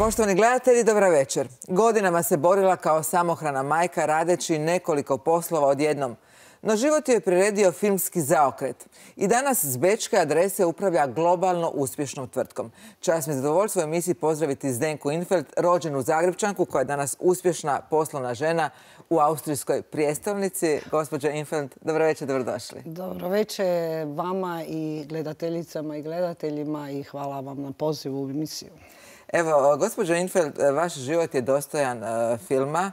Poštovani gledatelji, dobra večer. Godinama se borila kao samohrana majka radeći nekoliko poslova odjednom. No život je priredio filmski zaokret. I danas s bečke adrese upravlja globalno uspješnom tvrtkom. Čast mi je zadovoljstvo u emisiji pozdraviti Zdenku Infeld, rođenu Zagrepčanku koja je danas uspješna poslovna žena u austrijskoj prijestolnici. Gospođo Infeld, dobro večer, dobrodošli. Dobro večer vama i gledateljicama i gledateljima i hvala vam na pozivu u emisiju. Evo, gospođo Infeld, vaš život je dostojan filma.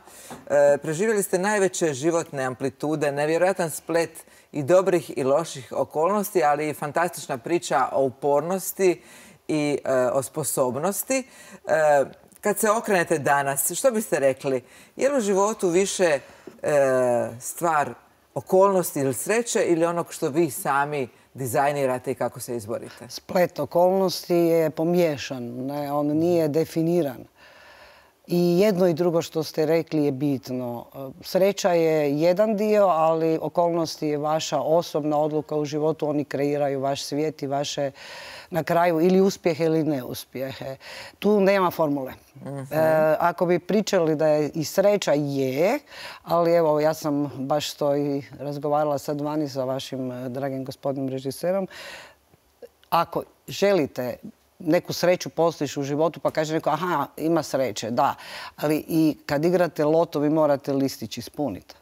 Preživjeli ste najveće životne amplitude, nevjerojatan splet i dobrih i loših okolnosti, ali i fantastična priča o upornosti i o sposobnosti. Kad se okrenete danas, što biste rekli? Je li u životu više stvar okolnosti ili sreće ili onog što vi sami dizajnirate i kako se izborite? Splet okolnosti je pomiješan, on nije definiran. I jedno i drugo što ste rekli je bitno. Sreća je jedan dio, ali okolnosti je vaša osobna odluka u životu. Oni kreiraju vaš svijet i vaše na kraju ili uspjehe ili neuspjehe. Tu nema formule. Ako bi pričali da je i sreća je, ali evo ja sam baš to i razgovarala sad vani sa vašim dragim gospodinom režiserom. Ako želite neku sreću postići u životu, pa kaže neko, aha, ima sreće, da. Ali i kad igrate loto, vi morate listić ispuniti.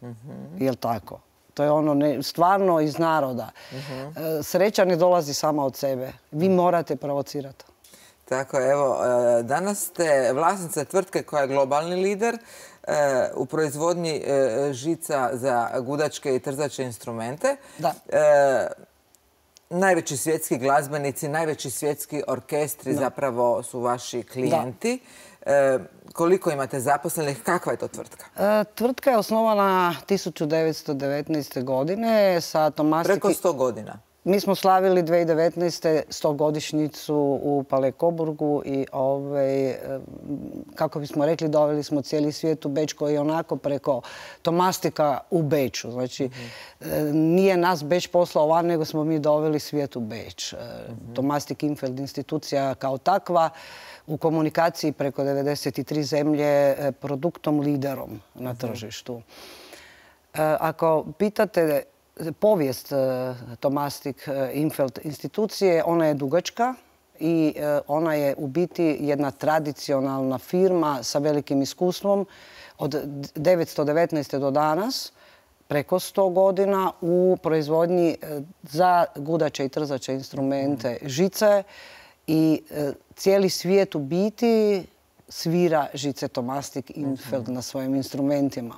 Jel' tako? To je ono stvarno iz naroda. Sreća ne dolazi sama od sebe. Vi morate provocirati. Tako, evo, danas ste vlasnica tvrtke koja je globalni lider u proizvodnji žica za gudačke i trzače instrumente. Da. Najveći svjetski glazbenici, najveći svjetski orkestri zapravo su vaši klijenti. Koliko imate zaposlenih? Kakva je to tvrtka? Tvrtka je osnovana 1919. godine sa Tomastik... Preko 100 godina. Mi smo slavili 2019. 100-godišnjicu u Palekoburgu i kako bismo rekli, doveli smo cijeli svijet u Beč koji je onako preko Tomastika u Beču. Znači, nije nas Beč poslao van, nego smo mi doveli svijet u Beč. Tomastik Infeld institucija kao takva u komunikaciji preko 93 zemlje produktom liderom na tržištu. Ako pitate povijest Tomastik Infeld institucije, ona je dugačka i ona je u biti jedna tradicionalna firma sa velikim iskustvom od 919. do danas, preko 100 godina u proizvodnji za gudače i trzače instrumente žice i cijeli svijet u biti svira žice Tomastik Infeld na svojim instrumentima.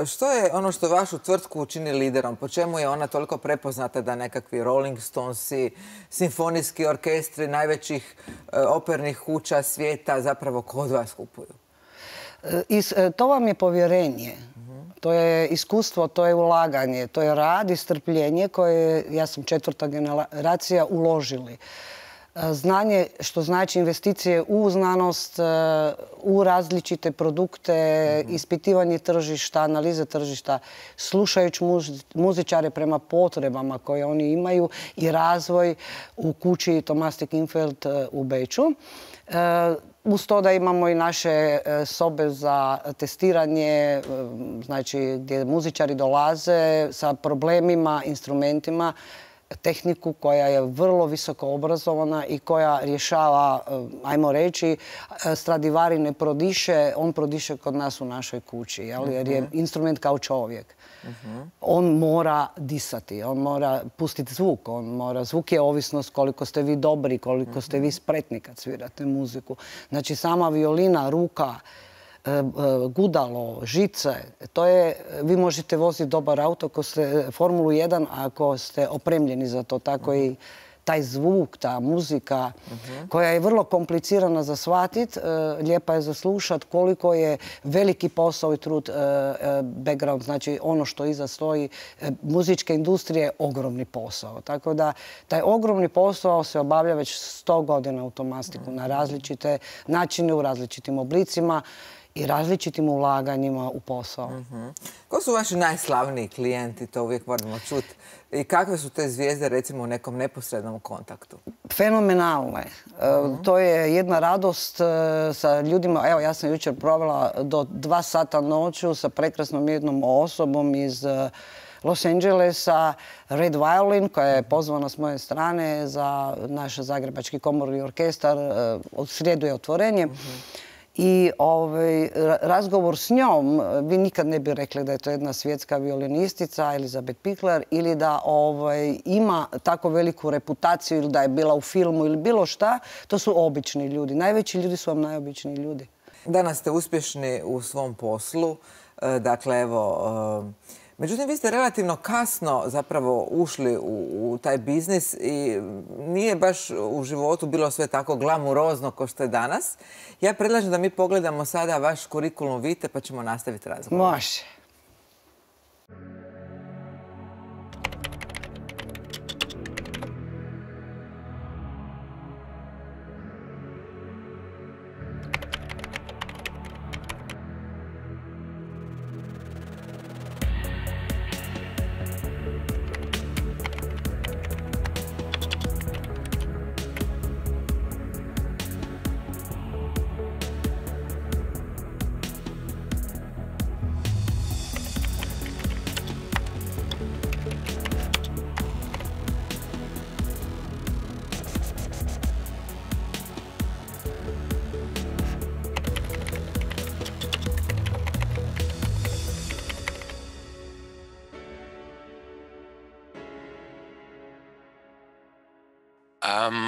Što je ono što vašu tvrtku učini liderom? Po čemu je ona toliko prepoznata da nekakvi Rolling Stonesi, simfonijski orkestri najvećih opernih kuća svijeta zapravo kod vas kupuju? To vam je povjerenje. To je iskustvo, to je ulaganje, to je rad i strpljenje koje, ja sam 4. generacija, uložili. Znanje, što znači investicije u znanost, u različite produkte, ispitivanje tržišta, analize tržišta, slušajući muzičare prema potrebama koje oni imaju i razvoj u kući Tomastik Infeld u Beču. Uz to da imamo i naše sobe za testiranje, znači gdje muzičari dolaze sa problemima, instrumentima, tehniku koja je vrlo visoko obrazovana i koja rješava, ajmo reći, Stradivari ne prodiše, on prodiše kod nas u našoj kući, jer je instrument kao čovjek. On mora disati, on mora pustiti zvuk, zvuk je ovisnost koliko ste vi dobri, koliko ste vi spretni kad svirate muziku. Znači sama violina, ruka, gudalo, žice, to je, vi možete voziti dobar auto ako ste Formulu 1, ako ste opremljeni za to. Tako i taj zvuk, ta muzika koja je vrlo komplicirana za shvatit, lijepa je za slušat, koliko je veliki posao i trud, background, znači ono što iza stoji muzičke industrije, ogromni posao. Tako da taj ogromni posao se obavlja već 100 godina u Tomastiku na različite načine, u različitim oblicima. i različitim ulaganjima u posao. Ko su vaši najslavniji klijenti, to uvijek moramo čuti, i kakve su te zvijezde recimo u nekom neposrednom kontaktu? Fenomenalne. To je jedna radost sa ljudima. Evo, ja sam jučer provela do 2 sata noću sa prekrasnom jednom osobom iz Los Angelesa, Red Violin, koja je pozvana s moje strane za naš Zagrebački komorni orkestar. Od srijedu je otvorenje. I razgovor s njom, vi nikad ne bi rekli da je to jedna svjetska violinistica, Elizabeth Pickler, ili da ima tako veliku reputaciju ili da je bila u filmu ili bilo šta. To su obični ljudi. Najveći ljudi su vam najobičniji ljudi. Danas ste uspješni u svom poslu. Dakle, evo... Međutim, vi ste relativno kasno zapravo ušli u taj biznis i nije baš u životu bilo sve tako glamurozno kao što je danas. Ja predlažem da mi pogledamo sada vaš kurikulum vitae pa ćemo nastaviti razgovor. Može.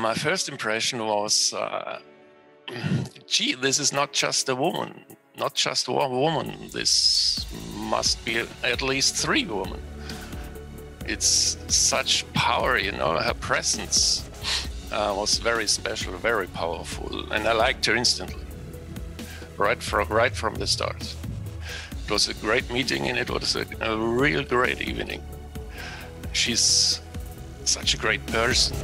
My first impression was, gee, this is not just a woman, not just one woman. This must be at least 3 women. It's such power, you know, her presence was very special, very powerful, and I liked her instantly, right from the start. It was a great meeting and it was a real great evening. She's such a great person.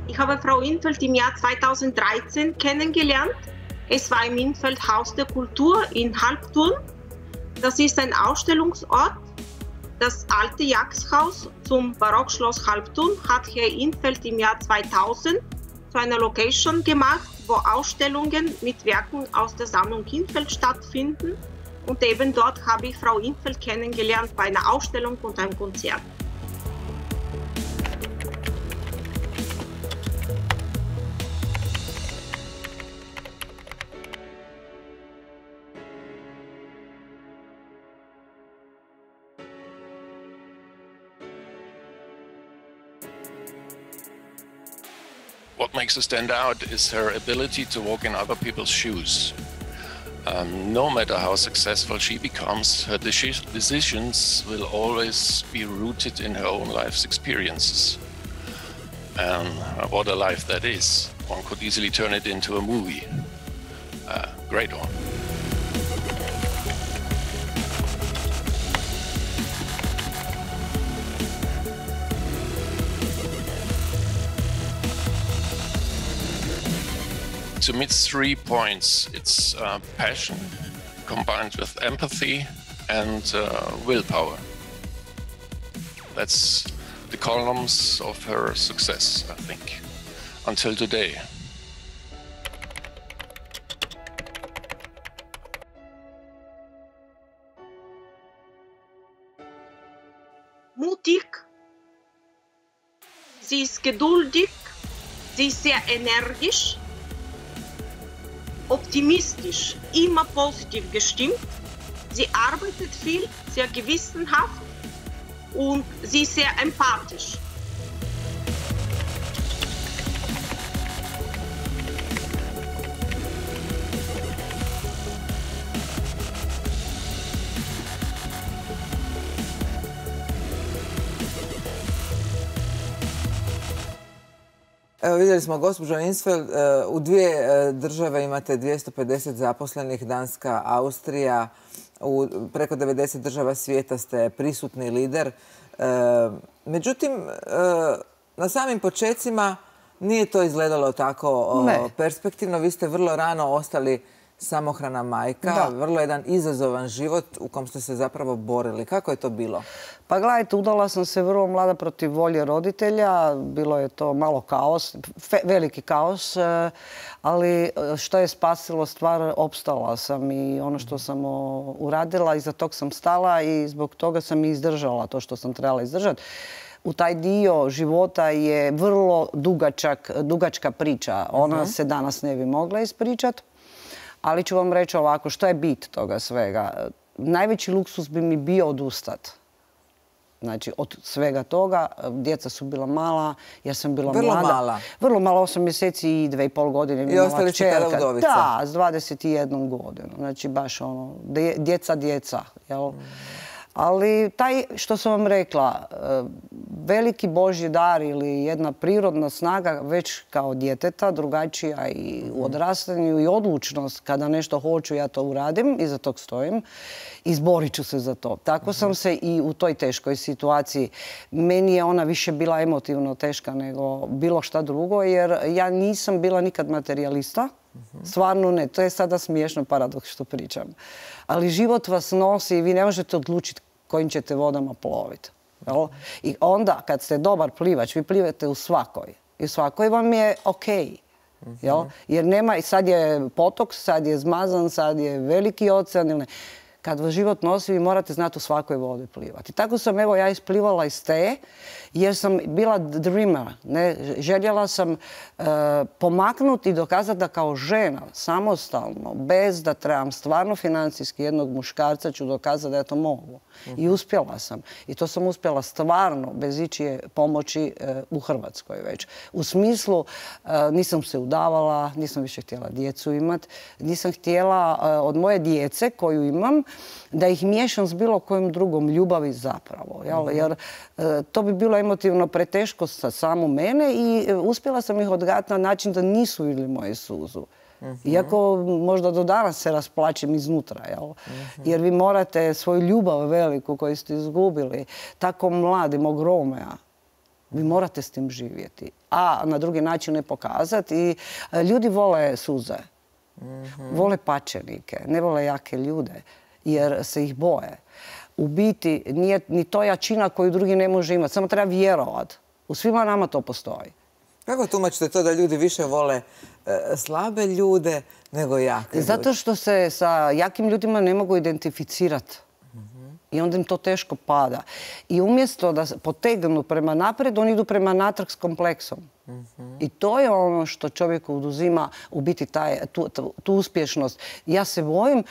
Ich habe Frau Infeld im Jahr 2013 kennengelernt. Es war im Infeld Haus der Kultur in Halbturn. Das ist ein Ausstellungsort. Das alte Jagdhaus zum Barockschloss Halbturn hat Herr Infeld im Jahr 2000 zu einer Location gemacht, wo Ausstellungen mit Werken aus der Sammlung Infeld stattfinden. Und eben dort habe ich Frau Infeld kennengelernt bei einer Ausstellung und einem Konzert. What makes her stand out is her ability to walk in other people's shoes. No matter how successful she becomes, her decisions will always be rooted in her own life's experiences. And what a life that is. One could easily turn it into a movie. A great one. To me, it's 3 points. It's passion combined with empathy and willpower. That's the columns of her success, I think, until today. Mutig, sie ist geduldig, sie ist sehr energisch, optimistisch, immer positiv gestimmt. Sie arbeitet viel, sehr gewissenhaft und sie ist sehr empathisch. Evo, vidjeli smo, gospođo Insfeld, u dvije države imate 250 zaposlenih, Danska, Austrija. U preko 90 država svijeta ste prisutni lider. Međutim, na samim počecima nije to izgledalo tako perspektivno. Vi ste vrlo rano ostali samohrana majka, vrlo jedan izazovan život u kom ste se zapravo borili. Kako je to bilo? Pa gledajte, udala sam se vrlo mlada protiv volje roditelja. Bilo je to malo kaos, veliki kaos, ali što je spasilo stvar, opstala sam i ono što sam uradila, iza tog sam stala i zbog toga sam i izdržala to što sam trebala izdržati. U taj dio života je vrlo dugačka priča. Ona se danas ne bi mogla ispričati. Ali ću vam reći ovako, što je bit toga svega? Najveći luksus bi mi bio odustat. Znači, od svega toga, djeca su bila mala, jer sam bila mlada. Vrlo mala? Vrlo mala, 8 mjeseci i 2,5 godine. I ostali ste tada udovica? Da, s 21 godinu. Znači, baš ono, djeca, jel? Ali taj, što sam vam rekla, veliki Božji dar ili jedna prirodna snaga već kao djeteta, drugačija i u odrastanju i odlučnost kada nešto hoću, ja to uradim, iza tog stojim, izborit ću se za to. Tako sam se i u toj teškoj situaciji. Meni je ona više bila emotivno teška nego bilo šta drugo, jer ja nisam bila nikad materijalista. Stvarno ne. To je sada smiješno paradoks što pričam. Ali život vas nosi i vi ne možete odlučiti kojim ćete vodama ploviti. I onda, kad ste dobar plivač, vi plivate u svakoj. I u svakoj vam je okej. Jer nema, sad je potok, sad je zmazan, sad je veliki ocean. Kad vas život nosi, vi morate znati u svakoj vodi plivati. Tako sam, evo, ja isplivala iz te, jer sam bila dreamer. Željela sam pomaknuti i dokazati da kao žena, samostalno, bez da trebam stvarno financijski jednog muškarca, ću dokazati da ja to mogu. I uspjela sam. I to sam uspjela stvarno, bez ičije pomoći u Hrvatskoj već. U smislu, nisam se udavala, nisam više htjela djecu imati, nisam htjela od moje djece koju imam, da ih miješam s bilo kojom drugom ljubavi zapravo. Jer to bi bilo emotivno preteško za samu mene i uspjela sam ih odgajati na način da nisu vidjeli moju suzu. Iako možda do danas se rasplačem iznutra. Jer vi morate svoju ljubav veliku koju ste izgubili, tako mladi, mog Romea, vi morate s tim živjeti. A na drugi način ne pokazati. I ljudi vole suze. Vole pačenike, ne vole jake ljude, jer se ih boje. U biti, nije ni to jačina koju drugi ne može imati, samo treba vjerovat. U svima nama to postoji. Kako tumačite to da ljudi više vole slabe ljude nego jake ljude? Zato što se sa jakim ljudima ne mogu identificirati. I onda im to teško pada. I umjesto da potegnu prema naprijed, oni idu prema natrag s kompleksom. I to je ono što čovjeku oduzima u biti tu uspješnost. Ja se bojim,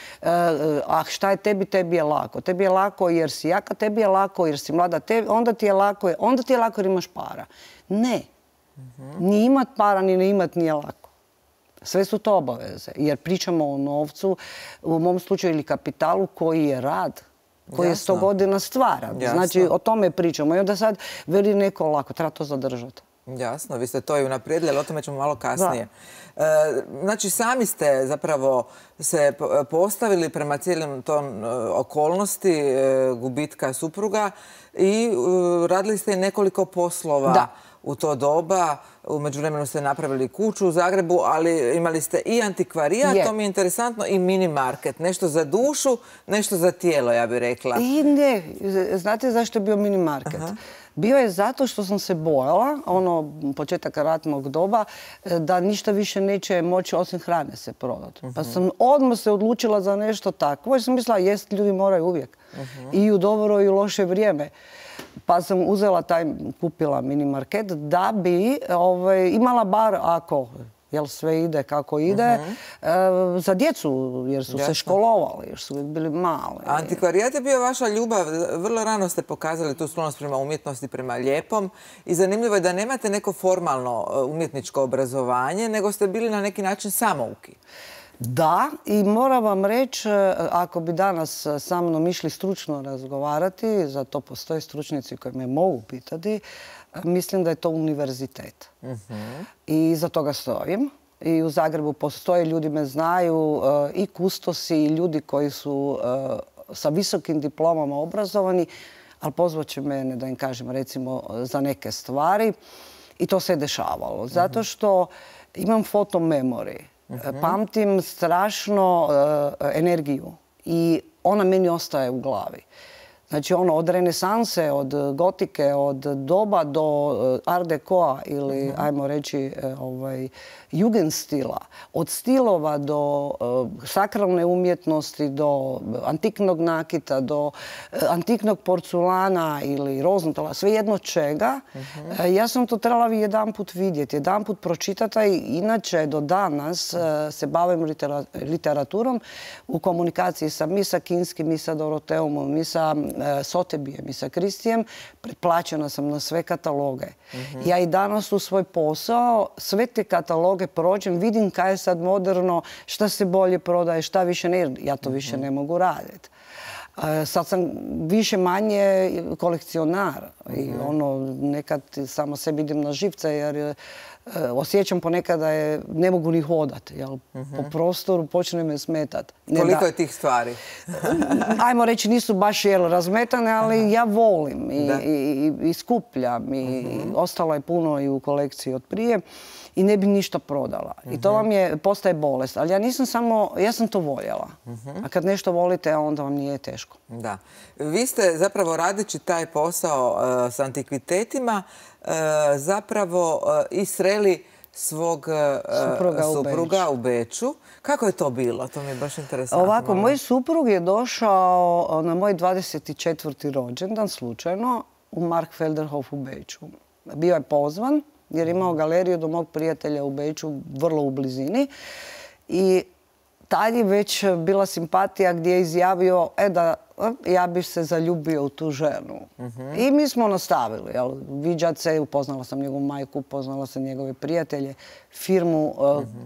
a šta je tebi, tebi je lako. Tebi je lako jer si jaka, tebi je lako jer si mlada, onda ti je lako jer imaš para. Ne. Ni imat para, ni ne imat nije lako. Sve su to obaveze. Jer pričamo o novcu, u mom slučaju ili kapitalu koji je rad, koji je 100 godina stvaran. Znači, o tome pričamo. I onda sad veli neko lako, treba to zadržati. Jasno, vi ste to i unaprijedili, ali o tome ćemo malo kasnije. Znači, sami ste zapravo se postavili prema cijelim tom okolnosti gubitka supruga i radili ste nekoliko poslova u to doba. U međuvremenu ste napravili kuću u Zagrebu, ali imali ste i antikvarijat, to mi je interesantno, i mini market. Nešto za dušu, nešto za tijelo, ja bih rekla. I ne, znate zašto je bio mini market? Bio je zato što sam se bojala, početak ratnog doba, da ništa više neće moći osim hrane se prodati. Pa sam odmah se odlučila za nešto takvo, jer sam mislila, jest, ljudi moraju uvijek. I u dobro i u loše vrijeme. Pa sam uzela kupila mini market da bi imala bar, ako sve ide kako ide, za djecu, jer su se školovali, jer su uvijek bili mali. Antikvarijat je bio vaša ljubav. Vrlo rano ste pokazali tu sklonost prema umjetnosti, prema lijepom. I zanimljivo je da nemate neko formalno umjetničko obrazovanje, nego ste bili na neki način samouki. Da, i moram vam reći, ako bi danas sa mnom išli stručno razgovarati, za to postoje stručnjaci koji me mogu pitati, mislim da je to univerzitet. I za toga stojim. I u Zagrebu postoje, ljudi me znaju, i kustosi i ljudi koji su sa visokim diplomama obrazovani, ali pozvat će mene da im kažem recimo za neke stvari. I to se je dešavalo. Zato što imam fotomemori. Pamtim strašno energiju i ona meni ostaje u glavi. Znači od renesanse, od gotike, od doba do art decoa ili ajmo reći jugendstila, od stilova do sakralne umjetnosti, do antiknog nakita, do antiknog porculana ili rozentola, svejedno čega. Ja sam to trebala jedanput vidjeti, jedanput pročitati i inače do danas se bavim literaturom u komunikaciji mi sa Kinskim, mi sa Doroteumom, mi sa Sothebyjem i sa Christiejem. Pretplaćena sam na sve kataloge. Ja i danas u svoj posao sve te kataloge prođem, vidim kaj je sad moderno, šta se bolje prodaje, šta više ne. Ja to više ne mogu raditi. Sad sam više manje kolekcionar i nekad samo sebi idem na živce jer osjećam ponekad da ne mogu ni hodati. Po prostoru počne me smetati. Koliko je tih stvari? Ajmo reći, nisu baš razmetane, ali ja volim i skupljam. I ostalo je puno i u kolekciji od prije. I ne bi ništa prodala. I to vam postaje bolest. Ali ja nisam samo, ja sam to voljela. A kad nešto volite, onda vam nije teško. Da. Vi ste zapravo radeći taj posao s antikvitetima zapravo i sreli svog supruga u Beču. Kako je to bilo? To mi je baš interesantno. Ovako, moj suprug je došao na moj 24. rođendan slučajno u Markfelderhof u Beču. Bio je pozvan jer imao galeriju do mog prijatelja u Beču, vrlo u blizini. I tad je već bila simpatija gdje je izjavio da ja bih se zaljubio u tu ženu. I mi smo nastavili. Viđat se, upoznala sam njegovu majku, upoznala sam njegove prijatelje, firmu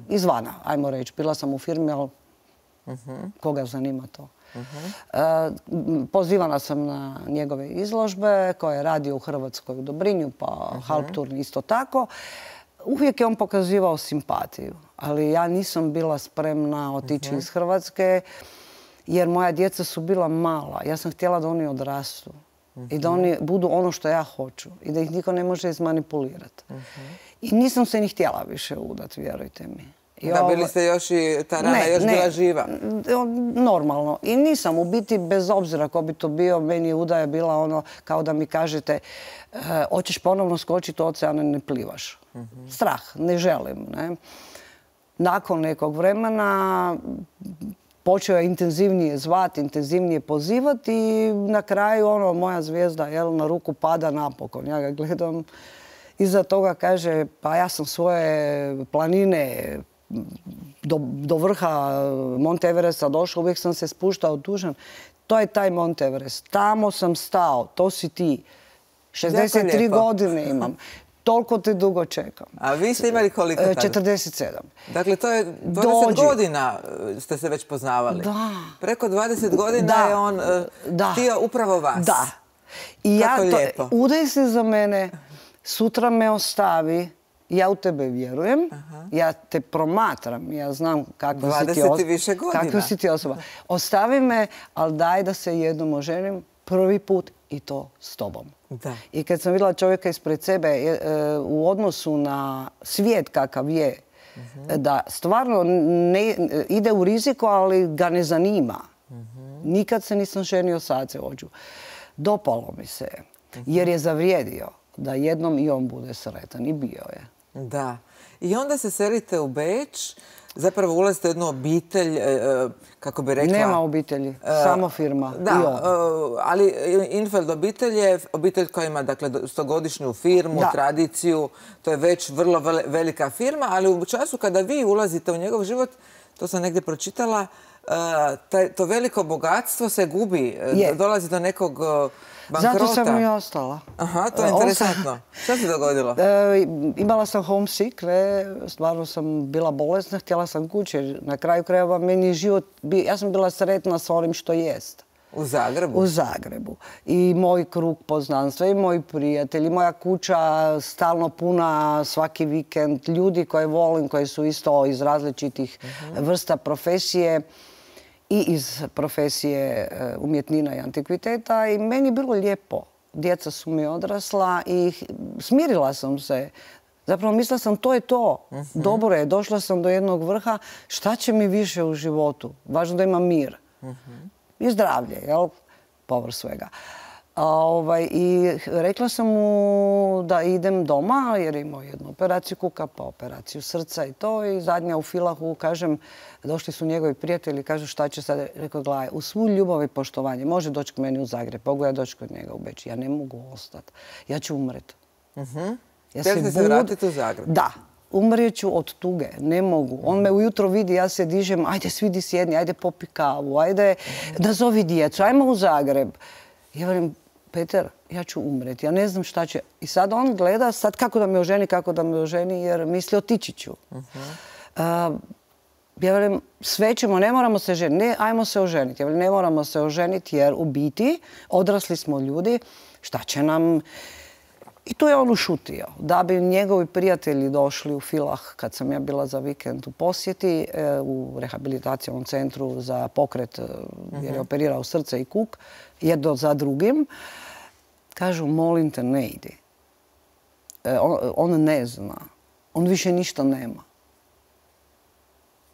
izvana, ajmo reći. Bila sam u firmi, ali koga zanima to. Pozivana sam na njegove izložbe koje je radio u Hrvatskoj u Dobrinju, pa Halpturn isto tako. Uvijek je on pokazivao simpatiju, ali ja nisam bila spremna otići iz Hrvatske jer moja djeca su bila mala. Ja sam htjela da oni odrastu i da oni budu ono što ja hoću i da ih niko ne može izmanipulirati. I nisam se ni htjela više udati, vjerujte mi. Da, bili ste još i ta rana još bila živa. Normalno. I nisam u biti, bez obzira ko bi to bio, meni je udaja bila ono kao da mi kažete hoćeš ponovno skočiti u ocean, ne plivaš. Strah, ne želim. Nakon nekog vremena počeo je intenzivnije zvati, intenzivnije pozivati i na kraju moja zvijezda na ruku pada napokon. Ja ga gledam, iza toga kaže pa ja sam svoje planine do vrha Mont Everesta došao, uvijek sam se spuštao tužan. To je taj Mont Everest. Tamo sam stao, to si ti. 63 godine imam. Toliko te dugo čekam. A vi ste imali koliko tada? 47. Dakle, to je 20 godina ste se već poznavali. Da. Preko 20 godina je on htio upravo vas. Da. I kako lijepo. Udaj se za mene, sutra me ostavi, ja u tebe vjerujem, ja te promatram, ja znam kakva si ti osoba. Ostavi me, ali daj da se jednom oženim prvi put i to s tobom. I kad sam vidjela čovjeka ispred sebe u odnosu na svijet kakav je, da stvarno ide u riziku, ali ga ne zanima. Nikad se nisam ženio sad se ođu. Dopalo mi se, jer je zavrijedio da jednom i on bude sretan i bio je. Da. I onda se selite u Beč, zapravo ulazite u jednu obitelj, kako bi rekla... Nema obitelji, samo firma. Da, ali Infeld obitelj je obitelj koja ima 100-godišnju firmu, tradiciju, to je već vrlo velika firma, ali u času kada vi ulazite u njegov život, to sam negdje pročitala, to veliko bogatstvo se gubi, dolazi do nekog bankrota. Zato sam i ostala. Aha, to je interesantno. Šta se dogodilo? Imala sam homesick, stvarno sam bila bolesna, htjela sam kući. Na kraju krajeva meni život, ja sam bila sretna s onim što jest. U Zagrebu? U Zagrebu. I moj krug poznanstva, i moji prijatelji, moja kuća stalno puna svaki vikend, ljudi koje volim, koji su isto iz različitih vrsta profesije i iz profesije umjetnina i antikviteta i meni je bilo lijepo. Djeca su mi odrasla i smirila sam se. Zapravo mislila sam to je to. Dobro je, došla sam do jednog vrha. Šta će mi više u životu? Važno da imam mir. I zdravlje, jel? Povrh svega. I rekla sam mu da idem doma jer je imao jednu operaciju kuka, pa operaciju srca i to. I zadnja u Filahu, kažem, došli su njegovi prijatelji, kažu šta će sad. Rekao, gledaj, u svu ljubav i poštovanje može doći k meni u Zagreb, mogu ja doći kod njega u Beč. Ja ne mogu ostati. Ja ću umret. Htjeli se vratiti u Zagreb? Da. Umrijet ću od tuge, ne mogu. On me ujutro vidi, ja se dižem, ajde svidi sjedni, ajde popi kavu, ajde nazovi djecu, ajmo u Zagreb. Ja velim, Peter, ja ću umreti, ja ne znam šta će. I sad on gleda sad kako da me oženi, jer misli otići ću. Ja velim, sve ćemo, ne moramo se ženiti, ne, ajmo se oženiti. Ja velim, ne moramo se oženiti jer u biti odrasli smo ljudi, šta će nam... I tu je on ušutio. Da bi njegovi prijatelji došli u Filah kad sam ja bila za vikend u posjeti u rehabilitacijskom centru za pokret jer je operirao srce i kuk, jedno za drugim. Kažu, molim te, ne idi. On ne zna. On više ništa nema.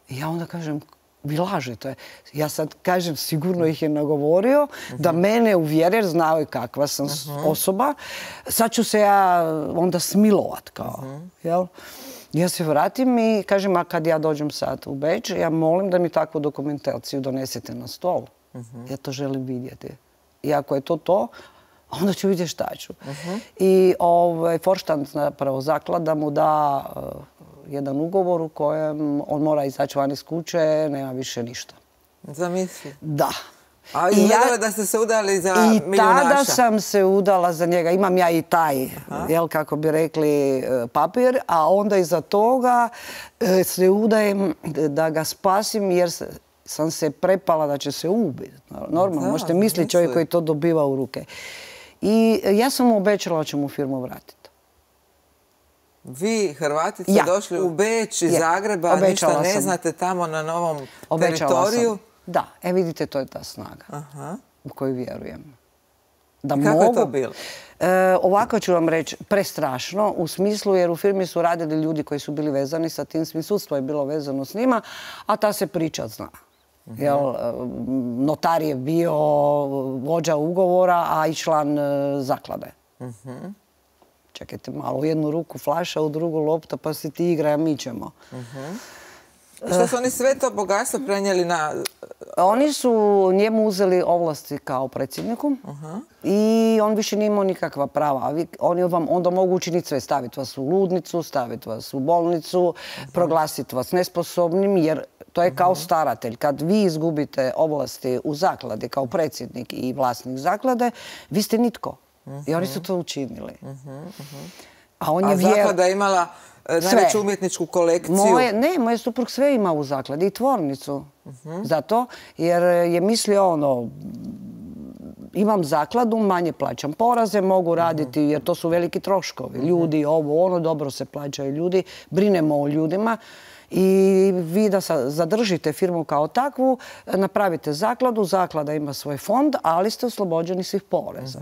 I ja onda kažem, vi lažete. Ja sad kažem, sigurno ih je nagovorio da mene uvjeri, jer znao je kakva sam osoba. Sad ću se ja onda smilovat kao. Ja se vratim i kažem, a kad ja dođem sad u Beč, ja molim da mi takvu dokumentaciju donesete na stol. Ja to želim vidjeti. I ako je to, onda ću vidjeti šta ću. I Forštant, zapravo zaklada, mu da jedan ugovor u kojem on mora izaći van iz kuće, nema više ništa. Zamisli. Da. A izgledalo da ste se udali za milijunaša? I tada sam se udala za njega. Imam ja i taj, kako bi rekli, papir, a onda iza toga se udajem da ga spasim jer sam se prepala da će se ubiti. Normalno, možete misliti čovjek koji to dobiva u ruke. I ja sam mu obećala da ću mu firmu vratiti. Vi, Hrvati, ste došli u Beč iz Zagreba, ništa ne znate tamo na novom teritoriju? Da, vidite, to je ta snaga u koju vjerujem. Kako je to bilo? Ovako ću vam reći, prestrašno, u smislu jer u firmi su radili ljudi koji su bili vezani sa tim, sudstvo je bilo vezano s njima, a ta se priča zna. Notar je bio vođa ugovora, a i član zaklade. Čekajte malo, u jednu ruku flaša, u drugu lopta, pa se ti igra, a mi ćemo. Što su oni sve to bogatstvo prenijeli na... Oni su njemu uzeli ovlasti kao predsjedniku i on više nije imao nikakva prava. Oni vam onda mogu učiniti sve, staviti vas u ludnicu, staviti vas u bolnicu, proglasiti vas nesposobnim, jer to je kao staratelj. Kad vi izgubite ovlasti u zakladi kao predsjednik i vlasnik zaklade, vi ste nitko. I oni su to učinili. A zaklada je imala najveću umjetničku kolekciju? Ne, moj suprug sve ima u zakladi i tvornicu. Zato jer je mislio imam zakladu, manje plaćam poraze, mogu raditi jer to su veliki troškovi. Ljudi, dobro se plaćaju ljudi, brinemo o ljudima. I vi da zadržite firmu kao takvu, napravite zakladu, zaklada ima svoj fond, ali ste oslobođeni svih poreza.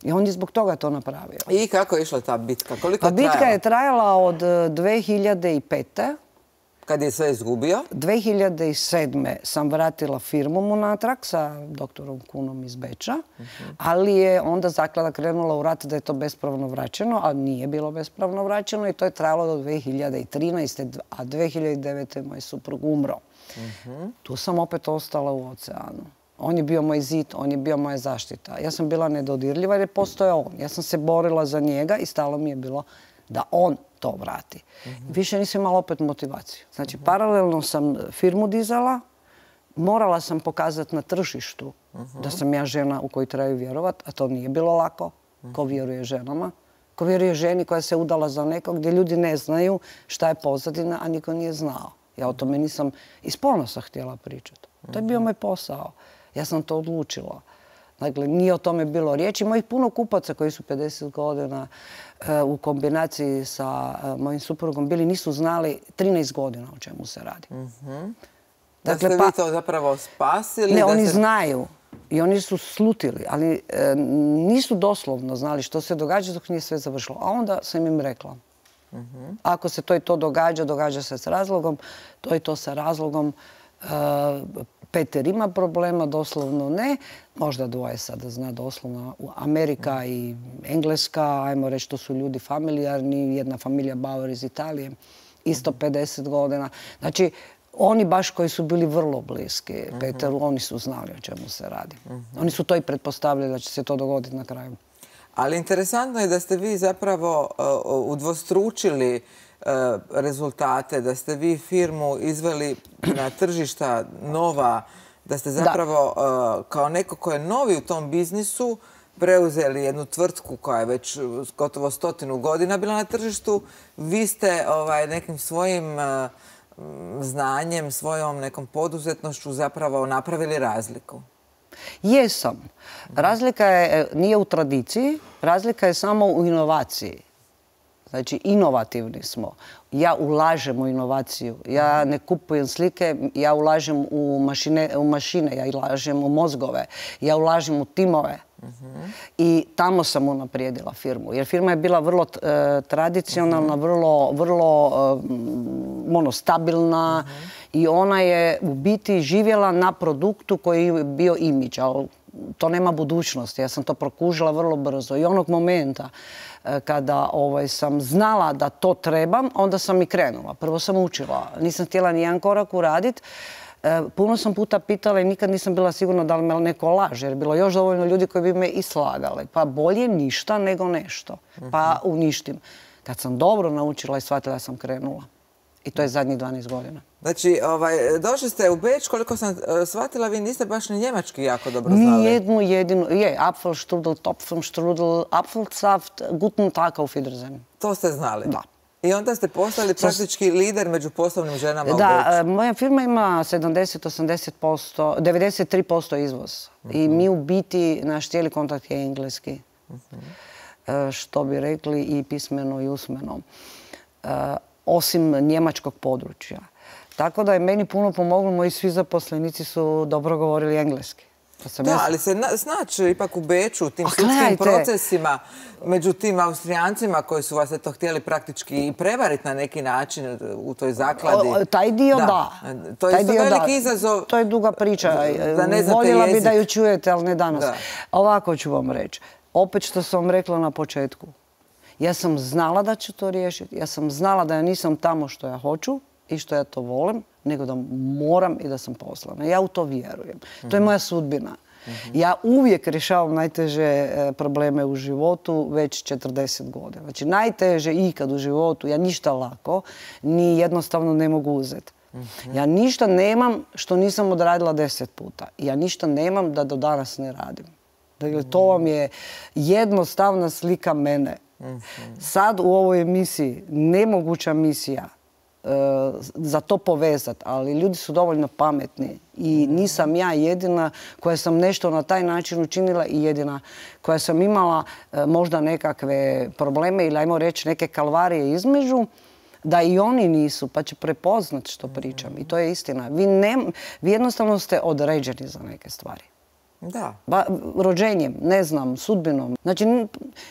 I on je zbog toga to napravio. I kako je išla ta bitka? Koliko je trajala? Bitka je trajala od 2005. Kad je sve izgubio? 2007. sam vratila firmu mu natrag sa doktorom Kunom iz Beča, ali je onda zaklada krenula u rat da je to bespravno vraćeno, a nije bilo bespravno vraćeno i to je trajalo do 2013. A 2009. moj suprug umro. Tu sam opet ostala u oceanu. On je bio moj zid, on je bio moja zaštita. Ja sam bila nedodirljiva jer je postojao on. Ja sam se borila za njega i stalo mi je bilo da on to vrati. Više nisam imala opet motivaciju. Znači, paralelno sam firmu dizala, morala sam pokazati na tržištu da sam ja žena u koju trebaju vjerovati, a to nije bilo lako. Ko vjeruje ženama? Ko vjeruje ženi koja se udala za nekog gdje ljudi ne znaju šta je pozadina, a niko nije znao. Ja o tome nisam iz ponosa htjela pričati. To je bio moj posao. Ja sam to odlučila. Dakle, nije o tome bilo riječi. Mojih puno kupaca koji su 50 godina u kombinaciji sa mojim suprugom bili, nisu znali 13 godina o čemu se radi. Da ste vi to zapravo spasili? Ne, oni znaju i oni su slutili, ali nisu doslovno znali što se događa dok nije sve završilo. A onda sam im rekla, ako se to i to događa, događa se s razlogom, to i to sa razlogom. Peter ima problema, doslovno ne. Možda dvoje sada zna doslovno. Amerika i Engleska, ajmo reći, to su ljudi familijarni. Jedna familija Bauer iz Italije, isto 50 godina. Znači, oni baš koji su bili vrlo bliski Peteru, oni su znali o čemu se radi. Oni su to i pretpostavljali da će se to dogoditi na kraju. Ali interesantno je da ste vi zapravo udvostručili rezultate, da ste vi firmu izveli na tržišta nova, da ste zapravo kao neko ko je novi u tom biznisu preuzeli jednu tvrtku koja je već gotovo 100 godina bila na tržištu. Vi ste nekim svojim znanjem, svojom nekom poduzetnošću zapravo napravili razliku. Jesam. Razlika nije u tradiciji, razlika je samo u inovaciji. Znači, inovativni smo. Ja ulažem u inovaciju. Ja ne kupujem slike, ja ulažem u mašine, ja ulažem u mozgove, ja ulažem u timove. I tamo sam unaprijedila firmu. Jer firma je bila vrlo tradicionalna, vrlo stabilna i ona je u biti živjela na produktu koji je bio imidž. Ali to nema budućnosti. Ja sam to prokužila vrlo brzo. I onog momenta kada sam znala da to trebam, onda sam i krenula. Prvo sam učila. Nisam htjela nijedan korak uraditi. Puno sam puta pitala i nikad nisam bila sigurna da li me neko laže, jer je bilo još dovoljno ljudi koji bi me i slagali. Pa bolje ništa nego nešto. Pa uništim. Kad sam dobro naučila i shvatila, sam krenula. I to je zadnjih 12 godina. Znači, došli ste u Beč, koliko sam shvatila, vi niste baš ni njemački jako dobro znali. Nijednu jedinu, Apfelstrudel, Topfenstrudel, Apfelsaft, guten Tag, auf Wiedersehen. To ste znali? Da. I onda ste postali praktički lider među poslovnim ženama u Beču. Da, moja firma ima 70-80%, 93% izvoz. I mi u biti, naš cijeli kontakt je engleski. Što bi rekli i pismeno i usmeno. Osim njemačkog područja. Tako da je meni puno pomoglo, moji svi zaposlenici su dobro govorili engleski. Da, ali se snaći ipak u Beču, u tim sudskim procesima, među tim Austrijancima koji su vas htjeli praktički i prevariti na neki način u toj zakladi. Taj dio da. To je isto veliki izazov. To je duga priča. Voljela bi da ju čujete, ali ne danas. Ovako ću vam reći. Opet što sam vam rekla na početku. Ja sam znala da ću to riješiti. Ja sam znala da ja nisam tamo što ja hoću i što ja to volim, nego da moram i da sam poslana. Ja u to vjerujem. To je moja sudbina. Ja uvijek rješavam najteže probleme u životu već 40 godina. Znači, najteže ikad u životu, ja ništa lako, ni jednostavno ne mogu uzeti. Ja ništa nemam što nisam odradila 10 puta. Ja ništa nemam da do danas ne radim. Dakle, to vam je jednostavna slika mene. Sad u ovoj emisiji, nemoguća misija, za to povezati, ali ljudi su dovoljno pametni i nisam ja jedina koja sam nešto na taj način učinila i jedina koja sam imala možda nekakve probleme ili ajmo reći neke kalvarije između, da i oni nisu, pa će prepoznat što pričam. I to je istina. Vi jednostavno ste određeni za neke stvari. Da. Rođenjem, ne znam, sudbinom. Znači,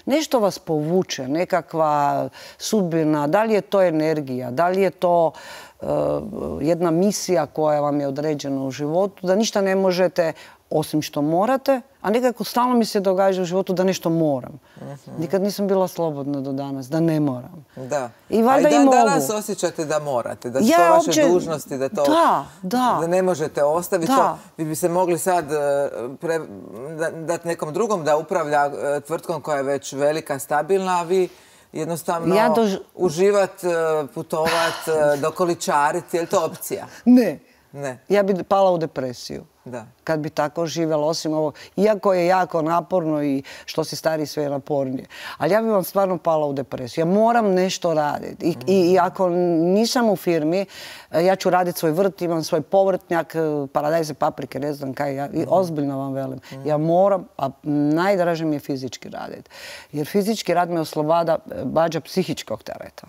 nešto vas povuče, nekakva sudbina, da li je to energija, da li je to jedna misija koja vam je određena u životu, da ništa ne možete osim što morate, a nekako stalno mi se događa u životu da nešto moram. Nikad nisam bila slobodna do danas, da ne moram. Da. I valjda i mogu. Danas osjećate da morate, da su to vaše dužnosti, da ne možete ostaviti to. Vi bi se mogli sad dati nekom drugom da upravlja tvrtkom koja je već velika, stabilna, a vi jednostavno uživat, putovat, dokoličariti, je li to opcija? Ne. Ne. Ja bi pala u depresiju. Da. Kad bi tako živjela, osim ovog, iako je jako naporno i što si stari sve je napornije. Ali ja bi vam stvarno pala u depresiju. Ja moram nešto raditi. I ako nisam u firmi, ja ću raditi svoj vrt, imam svoj povrtnjak, paradajze, paprike, ne znam kaj. I ozbiljno vam velim. Ja moram, a najdraže mi je fizički raditi. Jer fizički rad me oslobađa psihičkog tereta.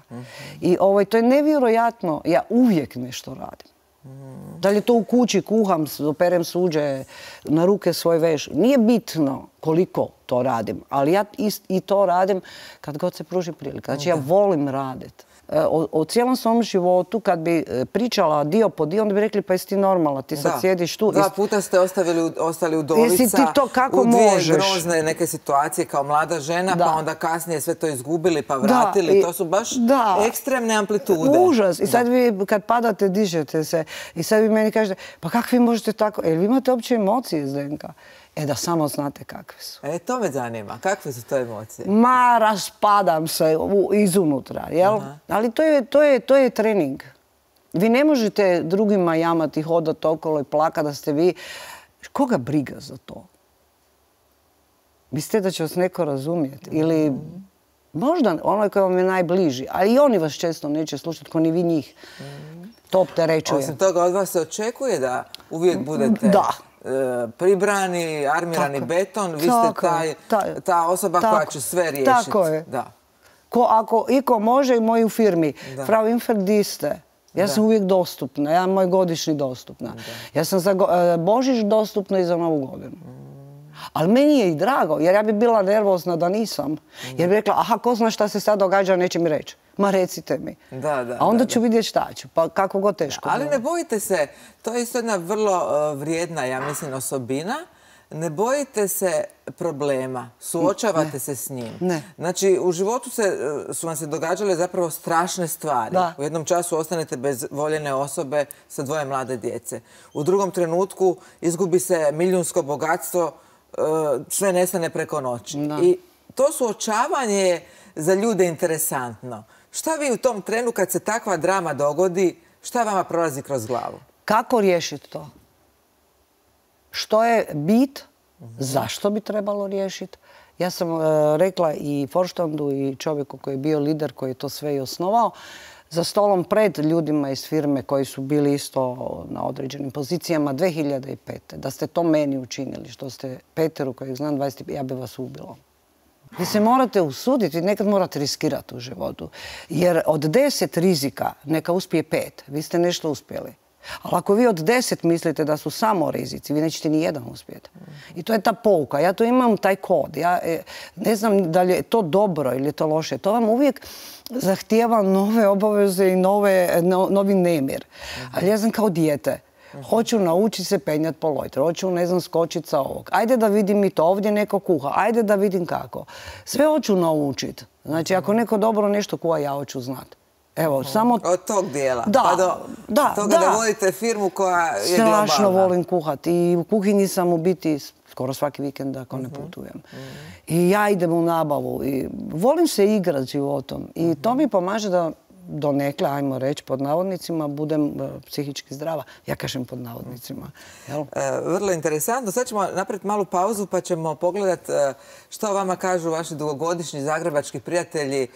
I to je nevjerojatno. Ja uvijek nešto radim. Da li je to u kući, kuham, operem suđe, na ruke svoj veš. Nije bitno koliko to radim, ali ja i to radim kad god se pruži prilika. Znači ja volim raditi. O cijelom svom životu, kad bi pričala dio po dio, onda bi rekli pa jesi ti normalna, ti sad sjediš tu. 2 puta ste ostali udovica, jesi ti to kako u 2 možeš? grozne neke situacije kao mlada žena, pa onda kasnije sve to izgubili pa vratili. To su baš ekstremne amplitude. Užas. I sad vi kad padate, dižete se. I sad vi meni kažete, pa kako vi možete tako? Jel vi imate uopće emocije, Zdenka? Da samo znate kakve su. To me zanima. Kakve su to emocije? Ma, raspadam se izunutra, jel? Ali to je trening. Vi ne možete drugima jamati, hodati okolo i plakati da ste vi. Koga briga za to? Mislite da će vas neko razumjeti? Ili možda onaj koji vam je najbliži. Ali i oni vas često neće slušati, ko ni vi njih. To opterećuje. Osim toga, od vas se očekuje da uvijek budete... pribrani, armirani beton, vi ste ta osoba koja će sve riješiti. Tako je. Ako iko može i moji u firmi. Frau Infeld, di ste? Ja sam uvijek dostupna, ja moj godišnji dostupna. Ja sam za Božić dostupna i za Novu godinu. Ali meni je i drago, jer ja bi bila nervozna da nisam. Jer bi rekla, aha, ko zna šta se sad događa, neće mi reći. Ma recite mi. A onda ću vidjeti šta ću, pa kako god teško. Ali ne bojite se, to je isto jedna vrlo vrijedna, ja mislim, osobina. Ne se problema, suočavate se s njim. Znači, u životu su vam se događale zapravo strašne stvari. U jednom času ostanete bez voljene osobe sa 2 mlade djece. U drugom trenutku izgubi se milijunsko bogatstvo, sve nestane preko noći. I to suočavanje je za ljude interesantno. Šta vi u tom trenu kad se takva drama dogodi, šta vama prolazi kroz glavu? Kako riješiti to? Što je bit? Zašto bi trebalo riješiti? Ja sam rekla i Forštandu i čovjeku koji je bio lider, koji je to sve i osnovao, za stolom pred ljudima iz firme koji su bili isto na određenim pozicijama 2005. Da ste to meni učinili, što ste Peteru, kojeg znam 20, ja bi vas ubila. Vi se morate usuditi, nekad morate riskirati u životu. Jer od 10 rizika neka uspije 5. Vi ste nešto uspjeli. Ali ako vi od 10 mislite da su samo rizici, vi nećete ni jedan uspjeti. I to je ta pouka. Ja to imam taj kod. Ja ne znam da li je to dobro ili je to loše. To vam uvijek zahtijeva nove obaveze i novi nemir. Ali ja znam kao dijete. Hoću naučiti se penjati po lojtru, hoću, ne znam, skočiti sa ovog. Ajde da vidim i to, ovdje neko kuha, ajde da vidim kako. Sve hoću naučiti. Znači, ako neko dobro nešto kuha, ja hoću znati. Evo, samo... Od tog dijela. Pa do toga da vodite firmu koja je globalna. Strašno volim kuhati. I u kuhinji sam u biti skoro svaki vikend ako ne putujem. I ja idem u nabavu. I volim se igrati životom. I to mi pomaže da donekle, ajmo reći, pod navodnicima, budem psihički zdrava. Ja kažem pod navodnicima. Vrlo interesantno. Sad ćemo napraviti malu pauzu pa ćemo pogledati što vama kažu vaši dugogodišnji zagrebački prijatelji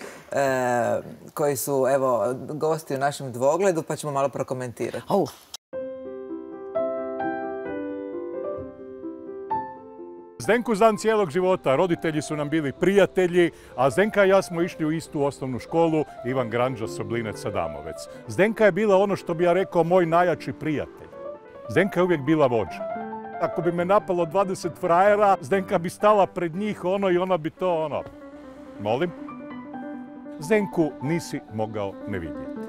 koji su, evo, gosti u našem dvogledu, pa ćemo malo prokomentirati. Zdenku znam cijelog života, roditelji su nam bili prijatelji, a Zdenka i ja smo išli u istu osnovnu školu, Ivan Granđa, Soblinec, Adamovec. Zdenka je bila ono što bi ja rekao moj najjači prijatelj. Zdenka je uvijek bila vođa. Ako bi me napalo 20 frajera, Zdenka bi stala pred njih i ona bi to Molim? Zdenku nisi mogao ne vidjeti.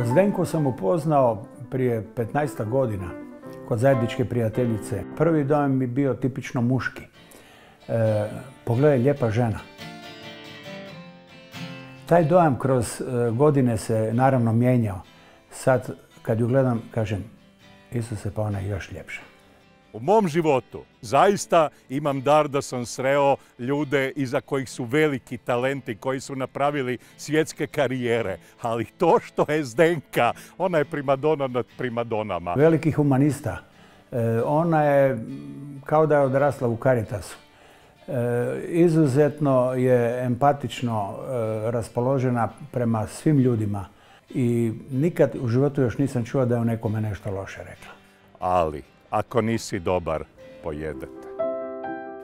Zdenku sam upoznao prije 15 godina. Kod zajedničke prijateljice. Prvi dojam mi bio tipično muški. Pogledaj, lijepa žena. Taj dojam kroz godine se naravno mijenjao. Sad kad ju gledam, kažem, Isuse, pa ona je još ljepša. U mom životu zaista imam dar da sam sreo ljude iza kojih su veliki talenti, koji su napravili svjetske karijere. Ali to što je Zdenka, ona je primadona nad primadonama. Veliki humanista. Ona je kao da je odrasla u Caritasu. Izuzetno je empatično raspoložena prema svim ljudima i nikad u životu još nisam čuo da je o nekome nešto loše rekla. Ali, ako nisi dobar, pojedete.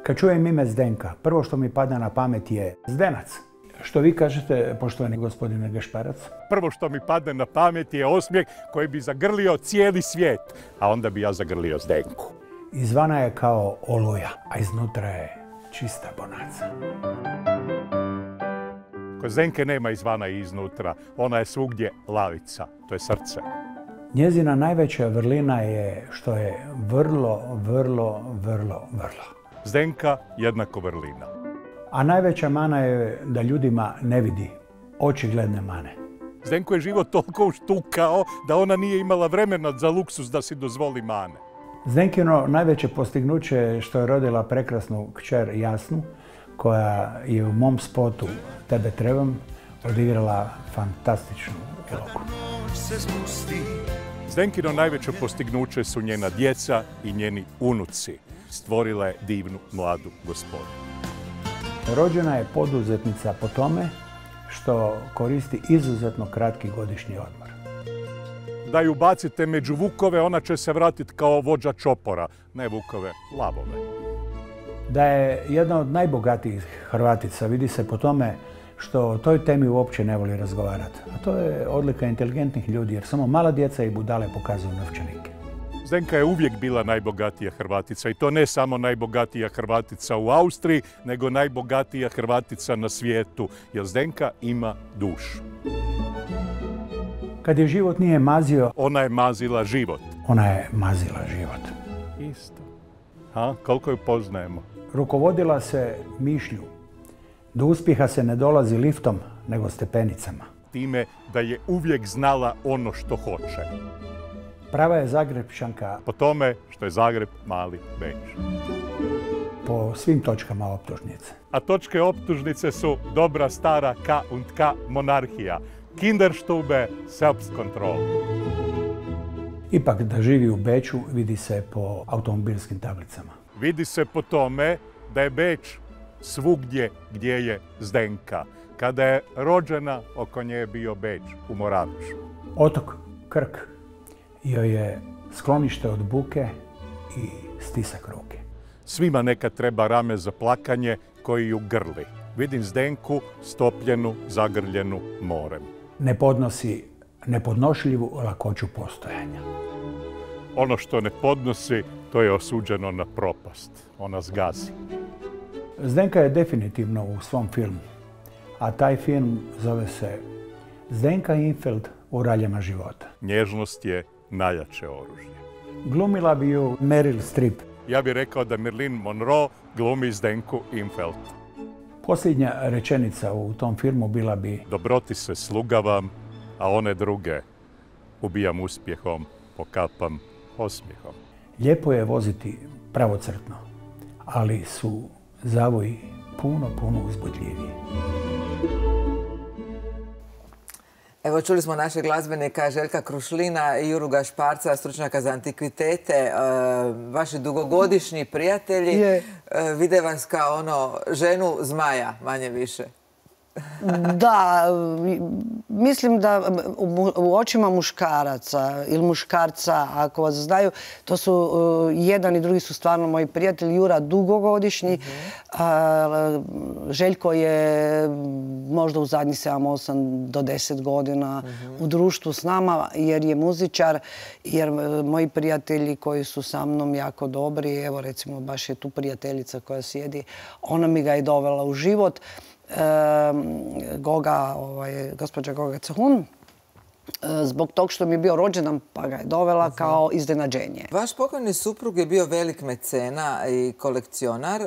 Kad čujem ime Zdenka, prvo što mi pada na pamet je Zdenac. Što vi kažete, poštovani gospodine Gašparac? Prvo što mi padne na pamet je osmijeh koji bi zagrlio cijeli svijet, a onda bi ja zagrlio Zdenku. Izvana je kao oluja, a iznutra je čista bonaca. Kod Zdenke nema izvana i iznutra, ona je svugdje lavica, to je srce. Njezina najveća vrlina je što je vrlo. Zdenka jednako vrlina. A najveća mana je da ljudima ne vidi očigledne mane. Zdenko je život toliko uštukao da ona nije imala vremena za luksus da si dozvoli mane. Zdenkino najveće postignuće je što je rodila prekrasnu kćer Jasnu, koja je u mom spotu Tebe trebam odigrala fantastičnu ulogu. Zdenkino najveće postignuće su njena djeca i njeni unuci. Stvorila je divnu mladu gospodu. Rođena je poduzetnica po tome što koristi izuzetno kratki godišnji odmor. Da ju bacite među vukove, ona će se vratiti kao vođa čopora. Ne vukove, lavove. Da je jedna od najbogatijih Hrvatica, vidi se po tome što o toj temi uopće ne voli razgovarati. A to je odlika inteligentnih ljudi, jer samo mala djeca i budale pokazuju novčanike. Zdenka je uvijek bila najbogatija Hrvatica i to ne samo najbogatija Hrvatica u Austriji, nego najbogatija Hrvatica na svijetu, jer Zdenka ima dušu. Kad je život nije mazio, ona je mazila život. Ona je mazila život. Isto. Koliko ju poznajemo? Rukovodila se mišlju. Do uspjeha se ne dolazi liftom, nego stepenicama. Time da je uvijek znala ono što hoće. Prava je Zagrebčanka po tome što je Zagreb mali Beč. Po svim točkama optužnice. A točke optužnice su dobra stara K und K monarhija. Kinderstube, Selbstkontroll. Ipak da živi u Beču vidi se po automobilskim tablicama. Vidi se po tome da je Beč svugdje gdje je Zdenka. Kada je rođena, oko nje je bio Beč u Moravišu. Otok Krk joj je sklonište od buke i stisak ruke. Svima nekad treba rame za plakanje koji ju grli. Vidim Zdenku stopljenu, zagrljenu morem. Ne podnosi nepodnošljivu lakoću postojanja. Ono što ne podnosi, to je osuđeno na propast. Ona zgazi. Zdenka je definitivno u svom filmu, a taj film zove se Zdenka Infeld u raljama života. Nježnost je najjače oružje. Glumila bi ju Meryl Streep. Ja bih rekao da Marilyn Monroe glumi Zdenku Infeld. Posljednja rečenica u tom filmu bila bi: dobroti se slugavam, a one druge ubijam uspjehom, pokapam osmijehom. Lijepo je voziti pravocrtno, ali su zavoji puno uzbudljiviji. Evo, čuli smo našeg glazbenika Željka Krušlina i Juru Gašparca, stručnjaka za antikvitete. Vaši dugogodišnji prijatelji vide vas kao ženu zmaja, manje više. Da, mislim da u očima muškaraca ili muškarca, ako vas znaju, to su jedan i drugi su stvarno moji prijatelji. Jura dugogodišnji, Željko je možda u zadnjih 7, 8 do 10 godina u društvu s nama jer je muzičar, jer moji prijatelji koji su sa mnom jako dobri, evo recimo baš je tu prijateljica koja sjedi, ona mi ga je dovela u život. Gospođa Goga Cehun zbog tog što mi je bio rođendan, pa ga je dovela kao iznenađenje. Vaš pokojni suprug je bio velik mecena i kolekcionar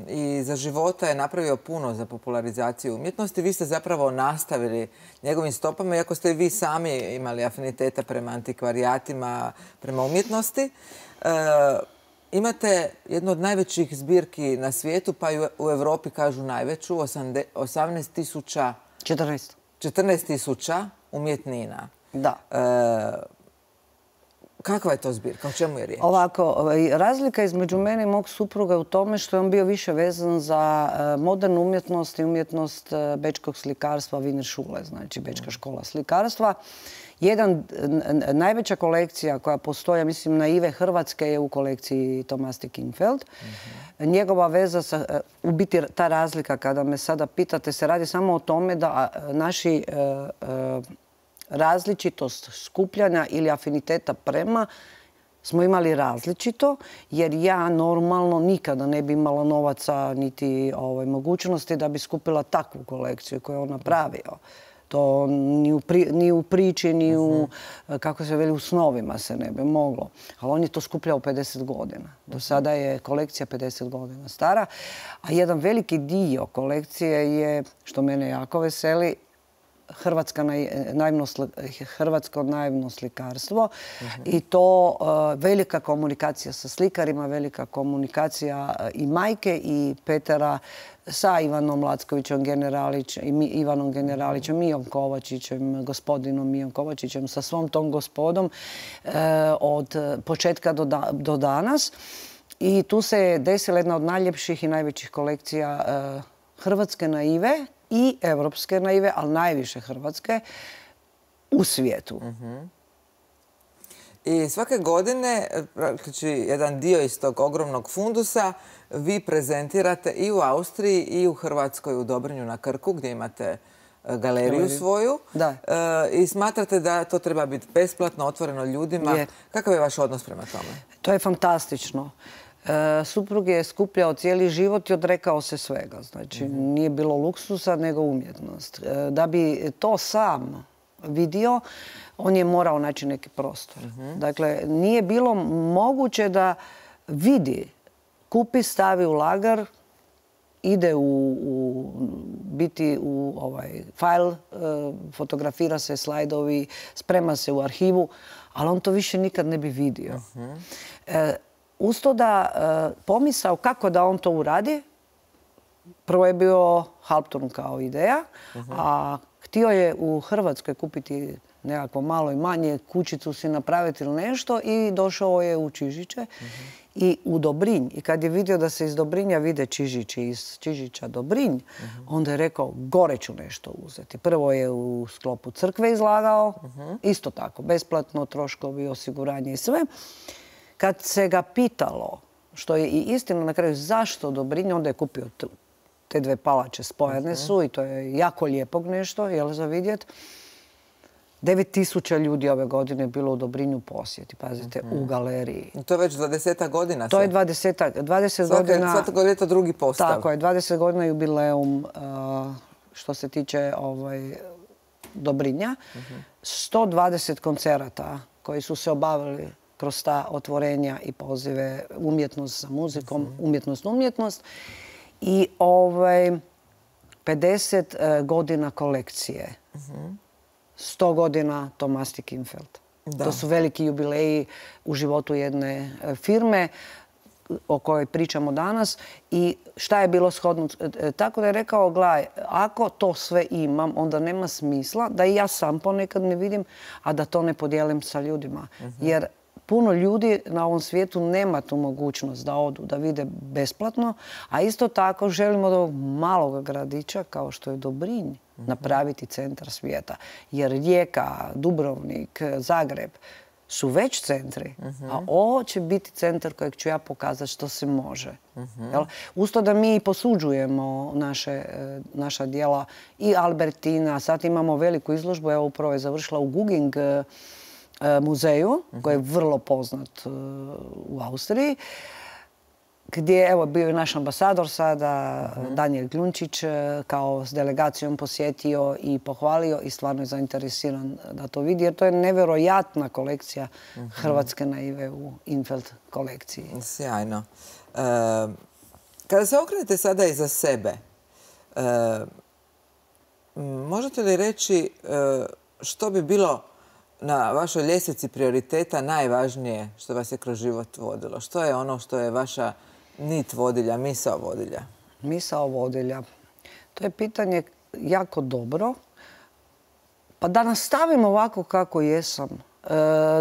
i za života je napravio puno za popularizaciju umjetnosti. Vi ste zapravo nastavili njegovim stopama, iako ste i vi sami imali afiniteta prema antikvarijatima, prema umjetnosti. Imate jednu od najvećih zbirki na svijetu, pa i u Europi kažu najveću, 14.000 umjetnina. Da. Kakva je to zbirka? O čemu je riječ? Ovako, razlika između mene i mog supruga je u tome što je on bio više vezan za modernu umjetnost i umjetnost bečkog slikarstva Wiener Schule, znači Bečka škola slikarstva. Najveća kolekcija koja postoji, mislim, naive Hrvatske je u kolekciji Tomasti Kinfeld. Njegova veza, u biti ta razlika, kada me sada pitate, se radi samo o tome da naši različitost skupljanja ili afiniteta prema smo imali različito, jer ja normalno nikada ne bi imala novaca niti mogućnosti da bi skupila takvu kolekciju koju je on napravio. To ni u priči, ni u, kako se veli, u snovima se ne bi moglo. Ali on je to skupljao 50 godina. Do sada je kolekcija 50 godina stara. A jedan veliki dio kolekcije je, što mene jako veseli, hrvatsko naivno slikarstvo i to velika komunikacija sa slikarima, velika komunikacija i majke i Petera sa Ivanom Lackovićem Ivanom Generalićem, Mijom Kovačićem, gospodinom Mijom Kovačićem, sa svom tom gospodom od početka do danas. I tu se je desila jedna od najljepših i najvećih kolekcija hrvatske naive i evropske naive, ali najviše hrvatske, u svijetu. I svake godine, znači jedan dio iz tog ogromnog fundusa, vi prezentirate i u Austriji i u Hrvatskoj u Dobrinju na Krku, gdje imate galeriju svoju. I smatrate da to treba biti besplatno, otvoreno ljudima. Kakav je vaš odnos prema tome? To je fantastično. Suprug je skupljao cijeli život i odrekao se svega. Znači, nije bilo luksusa, nego umjetnost. Da bi to sam vidio, on je morao naći neki prostor. Dakle, nije bilo moguće da vidi, kupi, stavi u lagar, ide biti u fajl, fotografira se slajdovi, sprema se u arhivu, ali on to više nikad ne bi vidio. Uz to da pomisao kako da on to uradi, prvo je bio Halpturn kao ideja, a htio je u Hrvatskoj kupiti nekako malo i manje, kućicu si napraviti ili nešto i došao je u Čižiće i u Dobrinj. I kad je vidio da se iz Dobrinja vide Čižići, iz Čižića Dobrinj, onda je rekao gore ću nešto uzeti. Prvo je u sklopu crkve izlagao, isto tako, besplatno, troškovi, osiguranje i sve. Kad se ga pitalo, što je i istina na kraju, zašto Dobrinj, onda je kupio te dve palače, spojene su i to je jako lijepog nešto, jel, za vidjet. 9.000 ljudi ove godine je bilo u Dobrinju posjeti, pazite, u galeriji. To je već 20 godina. To je 20 godina. Svako ljeto drugi postav. Tako je, 20 godina jubileum što se tiče Dobrinja. 120 koncerata koji su se obavili kroz ta otvorenja i pozive umjetnost sa muzikom, umjetnost. I 50 godina kolekcije. 100 godina Tomasti Kinfeld. To su veliki jubileji u životu jedne firme o kojoj pričamo danas. I šta je bilo shodno? Tako da je rekao, gledaj, ako to sve imam, onda nema smisla da i ja sam ponekad ne vidim, a da to ne podijelim sa ljudima. Jer puno ljudi na ovom svijetu nema tu mogućnost da odu, da vide besplatno, a isto tako želimo od ovog malog gradića, kao što je Dobrinj, napraviti centar svijeta. Jer Rijeka, Dubrovnik, Zagreb su već centri, a ovo će biti centar kojeg ću ja pokazati što se može. Usto da mi posuđujemo naša djela i Albertina, sad imamo veliku izložbu, evo upravo je završila u Guging muzeju, koji je vrlo poznat u Austriji. gdje evo bio je naš ambasador sada, Danijel Gljunčić, kao s delegacijom posjetio i pohvalio i stvarno je zainteresiran da to vidi, jer to je nevjerojatna kolekcija hrvatske naive u Infeld kolekciji. Sjajno. Kada se okrenete sada iza sebe, možete li reći što bi bilo na vašoj ljestvici prioriteta najvažnije što vas je kroz život vodilo? Što je ono što je vaša nit vodilja, misao vodilja? Misao vodilja. To je pitanje jako dobro. Pa da nastavim ovako kako jesam.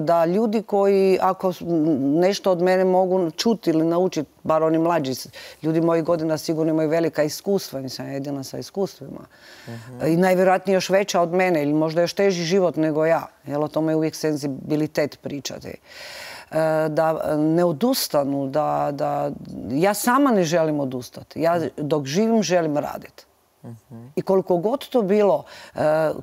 Da ljudi koji, ako nešto od mene mogu čuti ili naučiti, bar oni mlađi, ljudi mojih godina sigurno imaju velika iskustva, nisam jedina sa iskustvima. I najvjerojatnije još veća od mene ili možda još teži život nego ja. Jer o tome je uvijek senzibilitet pričati. Da ne odustanu, da ja sama ne želim odustati. Ja dok živim želim raditi. I koliko god to bilo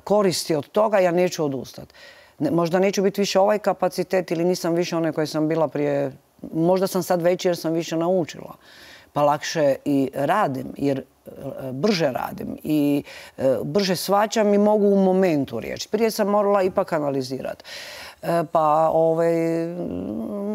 koristi od toga, ja neću odustati. Možda neću biti više ovaj kapacitet ili nisam više onaj koji sam bila prije. Možda sam sad veći jer sam više naučila. Pa lakše i radim, jer brže radim i brže shvaćam i mogu u momentu riječi. Prije sam morala ipak analizirati. Pa,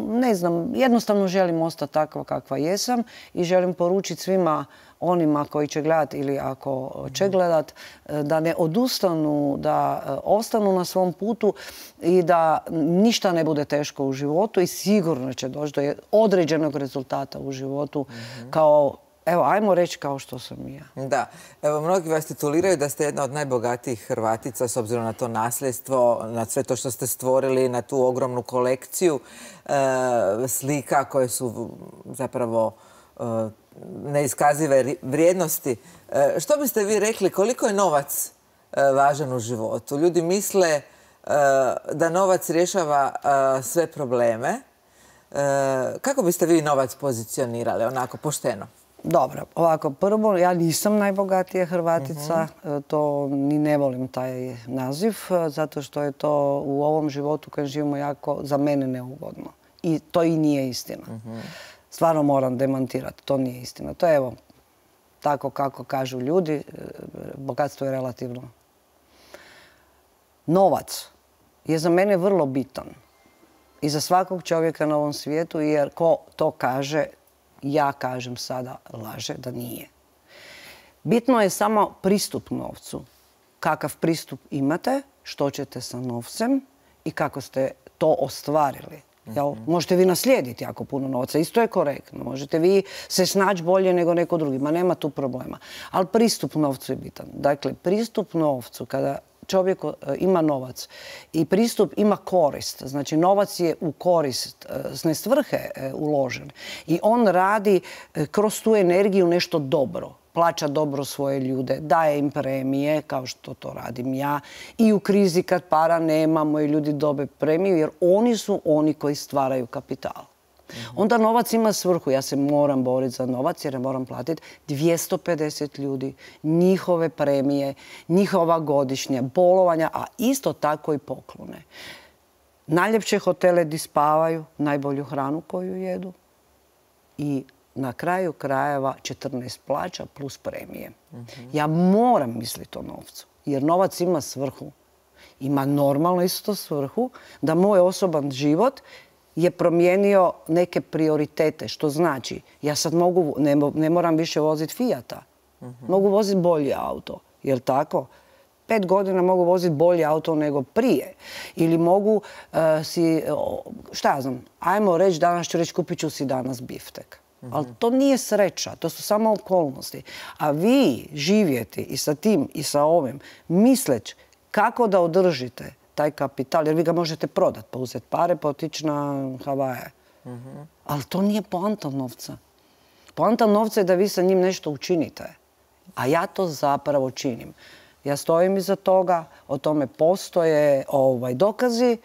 ne znam, jednostavno želim ostati takva kakva jesam i želim poručiti svima onima koji će gledati ili ako će gledat, da ne odustanu, da ostanu na svom putu i da ništa ne bude teško u životu i sigurno će doći do određenog rezultata u životu kao, evo, ajmo reći kao što sam i ja. Da. Evo, mnogi vas tituliraju da ste jedna od najbogatijih Hrvatica s obzirom na to nasljedstvo, na sve to što ste stvorili, na tu ogromnu kolekciju slika koje su zapravo neiskazive vrijednosti. Što biste vi rekli, koliko je novac važan u životu? Ljudi misle da novac rješava sve probleme. Kako biste vi novac pozicionirali, onako pošteno? Dobro, ovako, prvo, ja nisam najbogatija Hrvatica, to ni ne volim taj naziv, zato što je to u ovom životu kad živimo jako za mene neugodno. I to i nije istina. Stvarno moram demantirati, to nije istina. To je, evo, tako kako kažu ljudi, bogatstvo je relativno. Novac je za mene vrlo bitan i za svakog čovjeka na ovom svijetu, jer ko to kaže, ja kažem sada, laže da nije. Bitno je samo pristup novcu. Kakav pristup imate, što ćete sa novcem i kako ste to ostvarili. Možete vi naslijediti jako puno novca, isto je korektno. Možete vi se snaći bolje nego neko drugi, ma nema tu problema. Ali pristup novcu je bitan. Dakle, pristup novcu, kada čovjek ima novac i pristup ima korist, znači novac je u korist, ne svrhe uložen i on radi kroz tu energiju nešto dobro. Plaća dobro svoje ljude, daje im premije, kao što to radim ja. I u krizi kad para nemamo i ljudi dobe premiju, jer oni su oni koji stvaraju kapital. Onda novac ima svrhu. Ja se moram boriti za novac jer moram platiti 250 ljudi, njihove premije, njihova godišnja bolovanja, a isto tako i poklone. Najljepše hotele di spavaju, najbolju hranu koju jedu i na kraju krajeva 14 plaća plus premije. Ja moram misliti o novcu, jer novac ima svrhu. Ima normalno isto svrhu da moj osoban život je promijenio neke prioritete, što znači ja sad mogu, ne moram više voziti Fijata, mogu voziti bolji auto, jel tako? 5 godina mogu voziti bolji auto nego prije. Ili mogu šta ja znam, ajmo reći, danas ću reći kupit ću si danas biftek. Ali to nije sreća, to su samo okolnosti. A vi živjeti i sa tim i sa ovim, misleći kako da održite taj kapital, jer vi ga možete prodati, pa uzeti pare, pa otići na Havaje. Ali to nije poanta novca. Poanta novca je da vi sa njim nešto učinite. A ja to zapravo činim. Ja stojim iza toga, o tome postoje dokazi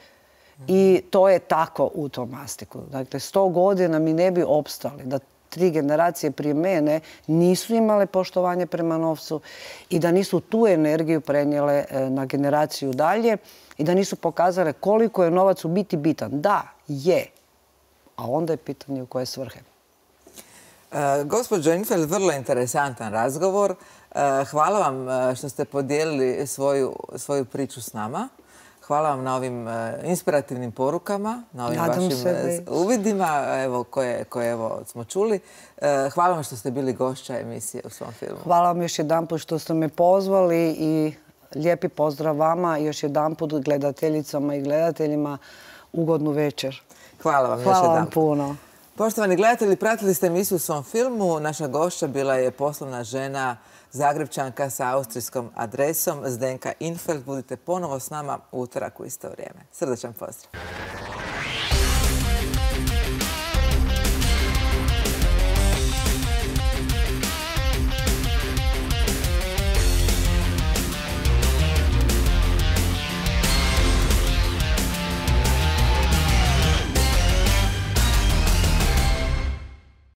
i to je tako u tom mastiku. Dakle, 100 godina mi ne bi opstali da 3 generacije prije mene nisu imale poštovanje prema novcu i da nisu tu energiju prenijele na generaciju dalje i da nisu pokazale koliko je novac u biti bitan. Da, je. A onda je pitanje u koje svrhe. Gospođo Infeld, vrlo interesantan razgovor. Hvala vam što ste podijelili svoju priču s nama. Hvala vam na ovim inspirativnim porukama, na ovim vašim uvidima koje smo čuli. Hvala vam što ste bili gošća emisije u svom filmu. Hvala vam još jedanput što ste me pozvali i lijepi pozdrav vama i još jedanput gledateljicama i gledateljima ugodnu večer. Hvala vam još jedanput. Hvala vam puno. Poštovani gledatelji, pratili ste emisiju u svom filmu. Naša gošća bila je poslovna žena Zagrepčanka sa austrijskom adresom Zdenka Infeld. Budite ponovo s nama u utorak u isto vrijeme. Srdačan pozdrav.